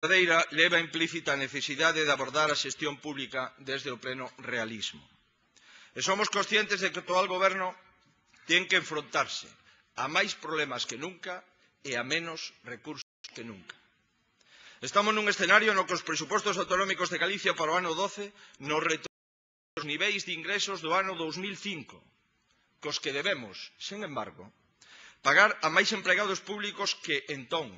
verdadeira leva implícita a necesidade de abordar a xestión pública desde o pleno realismo. E somos conscientes de que o actual goberno ten que enfrontarse a máis problemas que nunca e a menos recursos que nunca. Estamos nun escenario no que os presupostos autonómicos de Galicia para o ano 12 nos retornan os niveis de ingresos do ano 2005, cos que debemos, sen embargo, pagar a máis empregados públicos que entón,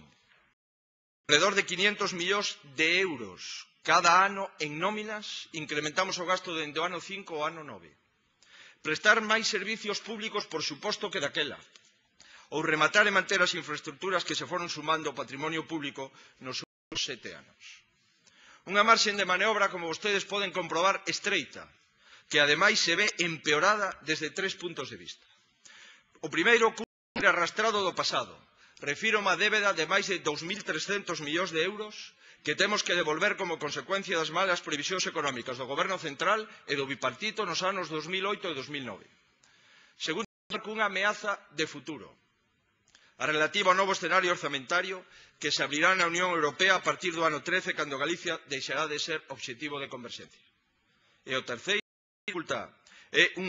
alrededor de 500 millóns de euros cada ano en nóminas, incrementamos o gasto dende o ano 5 ao ano 9. Prestar máis servicios públicos, por suposto, que daquela, ou rematar e manter as infraestructuras que se foron sumando ao patrimonio público nos últimos 7 anos. Unha marxen de maniobra, como vostedes poden comprobar, estreita, que ademais se ve empeorada desde 3 puntos de vista. O primeiro, cumple arrastrado do pasado. Refírome á débeda de máis de 2.300 millóns de euros que temos que devolver como consecuencia das malas previsións económicas do Goberno central e do bipartito nos anos 2008 e 2009. Segundo, unha ameaza de futuro, a relativa ao novo escenario orzamentario que se abrirá na Unión Europea a partir do ano 13, cando Galicia deixará de ser obxectivo de converxencia. E o terceiro, é un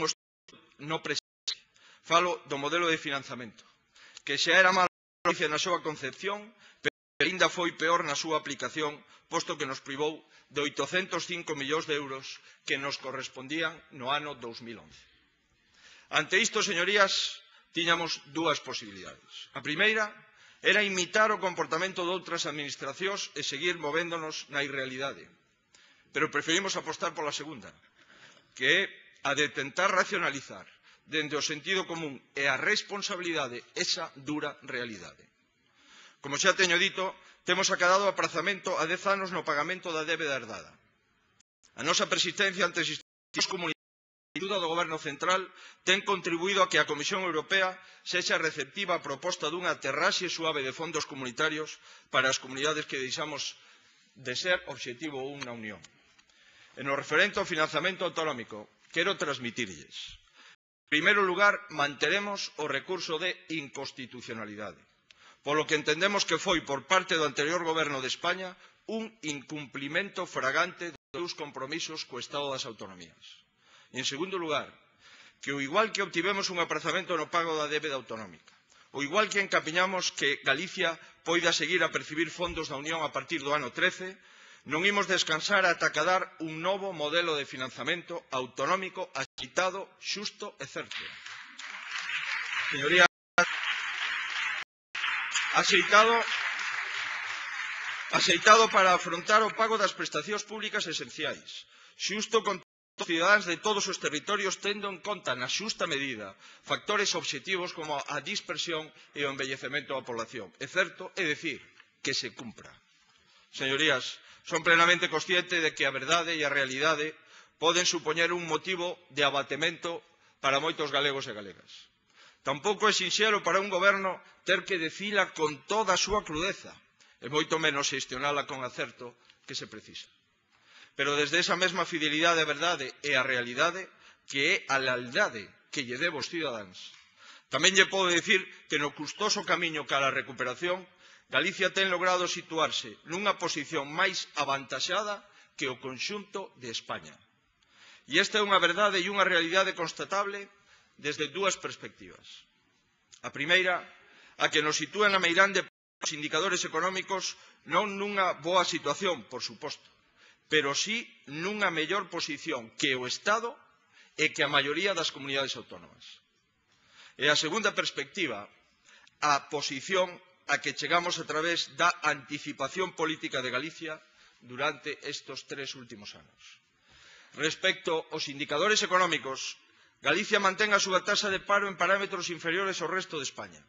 no presente. Falo do modelo de financiamento, que xa era malo na súa concepción, pero ainda foi peor na súa aplicación, posto que nos privou de 805 millóns de euros que nos correspondían no ano 2011. Ante isto, señorías, tiñamos dúas posibilidades. A primeira era imitar o comportamento de outras administracións e seguir movéndonos na irrealidade. Pero preferimos apostar pola segunda, que é a de tentar racionalizar dende o sentido común e a responsabilidade esa dura realidade. Como xa teño dito, temos acadado aprazamento a 10 anos no pagamento da débeda herdada. A nosa persistencia ante as institucións comunitarias e a axuda do Goberno central ten contribuído a que a Comisión Europea sexa receptiva á proposta dunha aterraxe suave de fondos comunitarios para as comunidades que deixamos de ser obxectivo 1 na Unión. En o referente ao financiamento autonómico, quero transmitirlles. En primeiro lugar, manteremos o recurso de inconstitucionalidade, polo que entendemos que foi por parte do anterior Goberno de España un incumplimento fragante dos seus compromisos co Estado das Autonomías. E, en segundo lugar, que o igual que obtivemos un aprazamento no pago da débeda autonómica, o igual que encapiñamos que Galicia poida seguir a percibir fondos da Unión a partir do ano 13, non imos descansar ata acadar un novo modelo de financiamento autonómico axeitado, xusto e certo. Señorías, axeitado para afrontar o pago das prestacións públicas esenciais, xusto con os cidadáns de todos os territorios, tendo en conta na xusta medida factores obxectivos como a dispersión e o envellecemento da población. É certo, é dicir, que se cumpra. Señorías, son plenamente consciente de que a verdade e a realidade poden supoñer un motivo de abatemento para moitos galegos e galegas. Tampouco é sinxelo para un goberno ter que dicila con toda a súa crudeza, e moito menos xestionala con acerto que se precisa. Pero desde esa mesma fidelidade á verdade e á realidade, que é a lealdade que lle debo aos cidadáns, tamén lle podo dicir que no custoso camiño cara a recuperación, Galicia ten logrado situarse nunha posición máis avantaxada que o conxunto de España. E esta é unha verdade e unha realidade constatable desde dúas perspectivas. A primeira, a que nos sitúa na meirande dos indicadores económicos non nunha boa situación, por suposto, pero sí nunha mellor posición que o Estado e que a maioría das comunidades autónomas. E a segunda perspectiva, a posición a que chegamos a través da anticipación política de Galicia durante estes 3 últimos anos. Respecto aos indicadores económicos, Galicia mantén a súa taxa de paro en parámetros inferiores ao resto de España.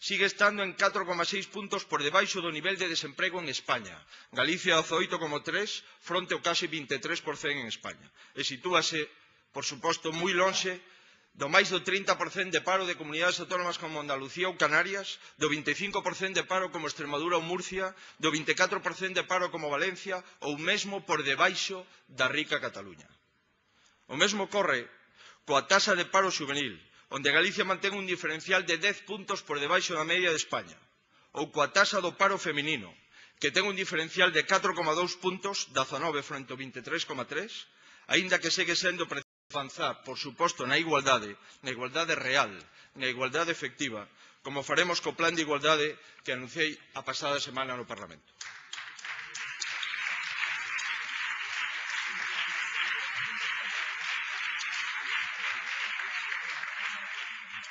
Sigue estando en 4,6 puntos por debaixo do nivel de desemprego en España. Galicia 18,3 fronte ao case 23% en España. E sitúase, por suposto, moi lonxe do máis do 30% de paro de comunidades autónomas como Andalucía ou Canarias, do 25% de paro como Extremadura ou Murcia, do 24% de paro como Valencia ou mesmo por debaixo da rica Cataluña. O mesmo ocorre coa taxa de paro xuvenil, onde Galicia mantén un diferencial de 10 puntos por debaixo da media de España, ou coa taxa do paro feminino, que ten un diferencial de 4,2 puntos, 19 frente ao 23,3, aínda que segue sendo preciso avanzar, por suposto, na igualdade real, na igualdade efectiva, como faremos co plan de igualdade que anunciei a pasada semana no Parlamento.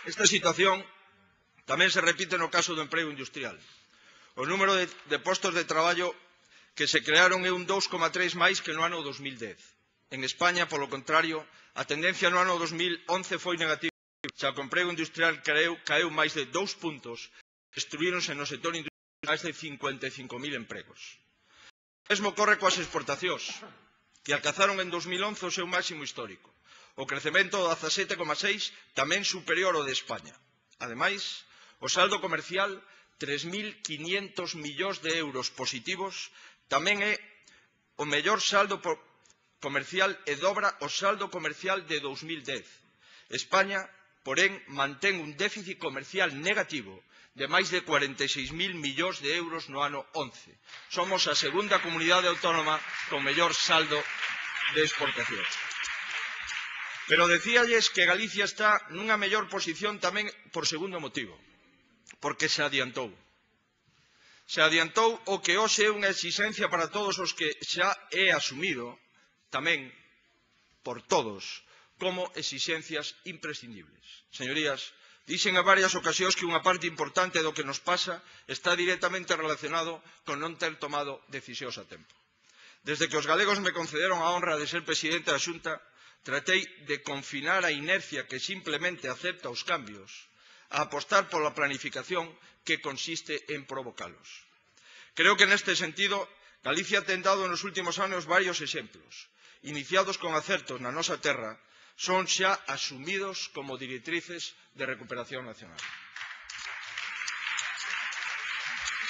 Esta situación tamén se repite no caso do emprego industrial. O número de postos de traballo que se crearon é un 2,3 máis que no ano 2010. En España, polo contrario, a tendencia no ano 2011 foi negativa, xa que o emprego industrial caeu máis de 2 puntos, destruíronse no sector industrial máis de 55.000 empregos. O mesmo ocorre coas exportacións, que alcanzaron en 2011 o seu máximo histórico. O crecemento do 17,6 tamén superior ao de España. Ademais, o saldo comercial, 3.500 millóns de euros positivos, tamén é o mellor saldo comercial e dobra o saldo comercial de 2010. España, porén, mantén un déficit comercial negativo de máis de 46.000 millóns de euros no ano 11. Somos a segunda comunidade autónoma con mellor saldo de exportación. Pero decíalles que Galicia está nunha mellor posición tamén por segundo motivo, porque se adiantou. Se adiantou o que hoxe é unha exixencia para todos os que xa é asumido, tamén por todos, como exixencias imprescindibles. Señorías, dixen a varias ocasións que unha parte importante do que nos pasa está directamente relacionado con non ter tomado decisións a tempo. Desde que os galegos me concederon a honra de ser presidente da Xunta, tratei de confinar a inercia que simplemente acepta os cambios, a apostar pola planificación que consiste en provocalos. Creo que neste sentido, Galicia ten dado nos últimos anos varios exemplos. Iniciados con acertos na nosa terra, son xa asumidos como directrices de recuperación nacional.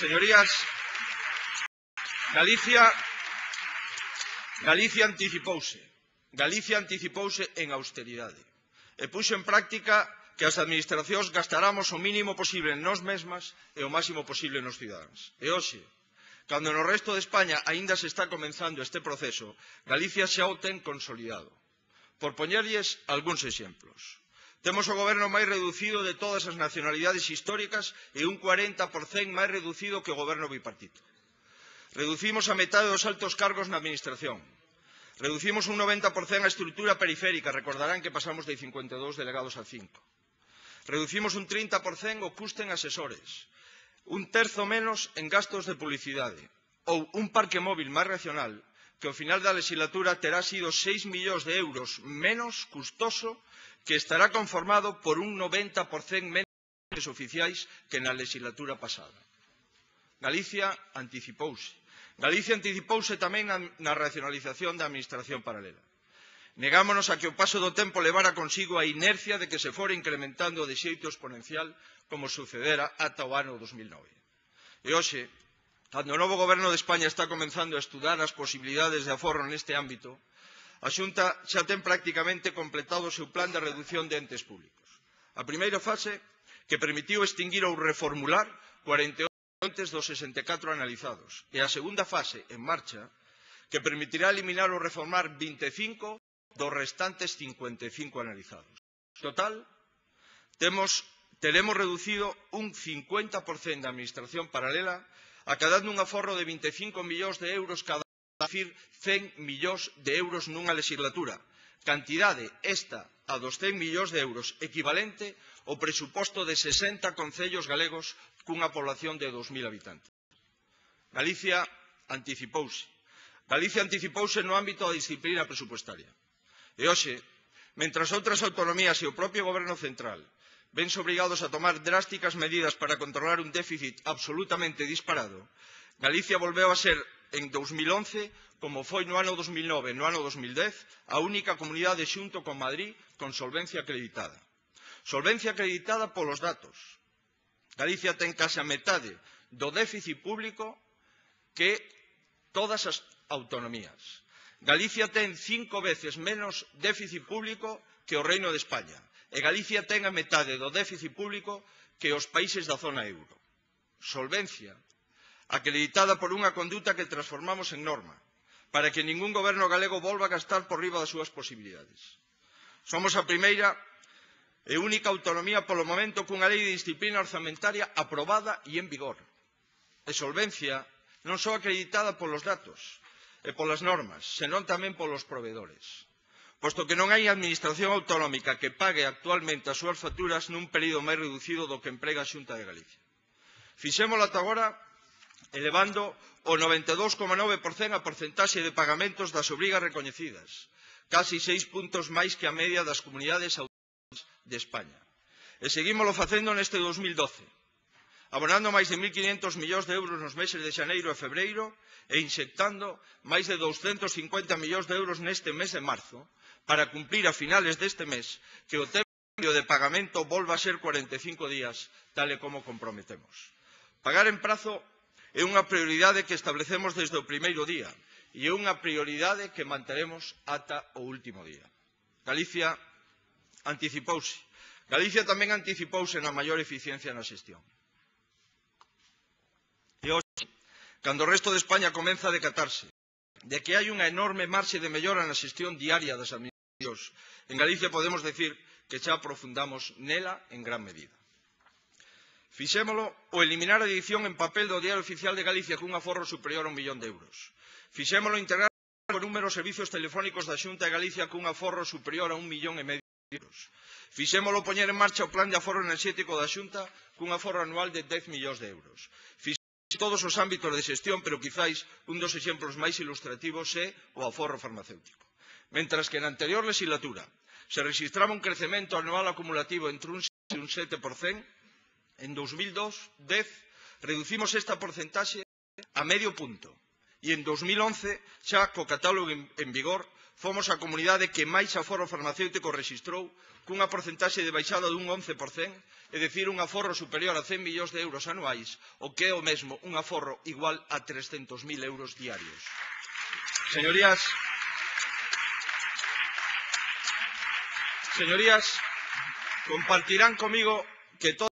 Señorías, Galicia anticipouse en austeridade e puxo en práctica que as administracións gastaramos o mínimo posible en nós mesmas e o máximo posible nos cidadáns. E hoxe, cando no resto de España aínda se está comenzando este proceso, Galicia xa o ten consolidado. Por poñerlles algúns exemplos. Temos o goberno máis reducido de todas as nacionalidades históricas e un 40% máis reducido que o goberno bipartito. Reducimos a metade dos altos cargos na administración. Reducimos un 90% a estrutura periférica, recordarán que pasamos de 52 delegados a 5. Reducimos un 30% o custe en asesores, un terzo menos en gastos de publicidade, ou un parque móvil máis racional que ao final da legislatura terá sido 6 millóns de euros menos custoso, que estará conformado por un 90% menos de oficiais que na legislatura pasada. Galicia anticipouse. Galicia anticipouse tamén na racionalización da administración paralela. Negámonos a que o paso do tempo levara consigo a inercia de que se fora incrementando de xeito exponencial como sucedera ata o ano 2009. E hoxe, cando o novo goberno de España está comenzando a estudar as posibilidades de aforro neste ámbito, a Xunta xa ten prácticamente completado o seu plan de reducción de entes públicos. A primeira fase, que permitiu extinguir ou reformular 48 entes dos 64 analizados, e a segunda fase, en marcha, que permitirá eliminar ou reformar 25 dos restantes 55 analizados. En total, teremos reducido un 50% da administración paralela, acadando un aforro de 25 millóns de euros cada ano, é dicir, 100 millóns de euros nunha legislatura, cantidade esta a dos 100 millóns de euros, equivalente ao presuposto de 60 concellos galegos cunha población de 2.000 habitantes. Galicia anticipouse. Galicia anticipouse no ámbito da disciplina presupuestaria. E hoxe, mentras outras autonomías e o propio goberno central vense obrigados a tomar drásticas medidas para controlar un déficit absolutamente disparado, Galicia volveu a ser en 2011, como foi no ano 2009 e no ano 2010, a única comunidade xunto con Madrid con solvencia acreditada. Solvencia acreditada polos datos. Galicia ten case a metade do déficit público que todas as autonomías. Galicia ten 5 veces menos déficit público que o Reino de España. E Galicia ten a metade do déficit público que os países da zona euro. Solvencia. acreditada por unha conduta que transformamos en norma, para que ningún goberno galego volva a gastar por riba das súas posibilidades. Somos a primeira e única autonomía polo momento cunha lei de disciplina orzamentaria aprobada e en vigor. E solvencia non só acreditada polos datos e polas normas, senón tamén polos provedores. Posto que non hai administración autonómica que pague actualmente as súas facturas nun período máis reducido do que emprega a Xunta de Galicia. Fixémolo ata agora elevando o 92,9% a porcentaxe de pagamentos das obrigas recoñecidas, casi 6 puntos máis que a media das comunidades autónomas de España. E seguímolo facendo neste 2012, abonando máis de 1.500 millóns de euros nos meses de xaneiro e febreiro e inxectando máis de 250 millóns de euros neste mes de marzo para cumplir a finales deste mes que o termo de pagamento volva a ser 45 días, tal e como comprometemos. Pagar en prazo é unha prioridade que establecemos desde o primeiro día e é unha prioridade que manteremos ata o último día. Galicia anticipouse. Galicia tamén anticipouse na maior eficiencia na xestión. E hoxe, cando o resto de España comeza a decatarse de que hai unha enorme marxe de mellora na xestión diaria das administracións, en Galicia podemos decir que xa aprofundamos nela en gran medida. Fixémolo o eliminar a edición en papel do Diario Oficial de Galicia cun aforro superior a 1 millón de euros. Fixémolo integrar o número de servizos telefónicos da Xunta de Galicia cun aforro superior a 1,5 millón de euros. Fixémolo poñer en marcha o plan de aforro enerxético da Xunta cun aforro anual de 10 millóns de euros. Fixémolo todos os ámbitos de xestión, pero quizáis un dos exemplos máis ilustrativos é o aforro farmacéutico. Mentras que na anterior legislatura se registraba un crecemento anual acumulativo entre un 6 e un 7%, en 2010 reducimos esta porcentaxe a medio punto e en 2011, xa co catálogo en vigor, fomos a comunidade que máis aforro farmacéutico rexistrou cunha porcentaxe de baixada dun 11%, é dicir, un aforro superior a 100 millóns de euros anuais, o que é o mesmo un aforro igual a 300.000 euros diarios. Señorías, compartirán comigo que todo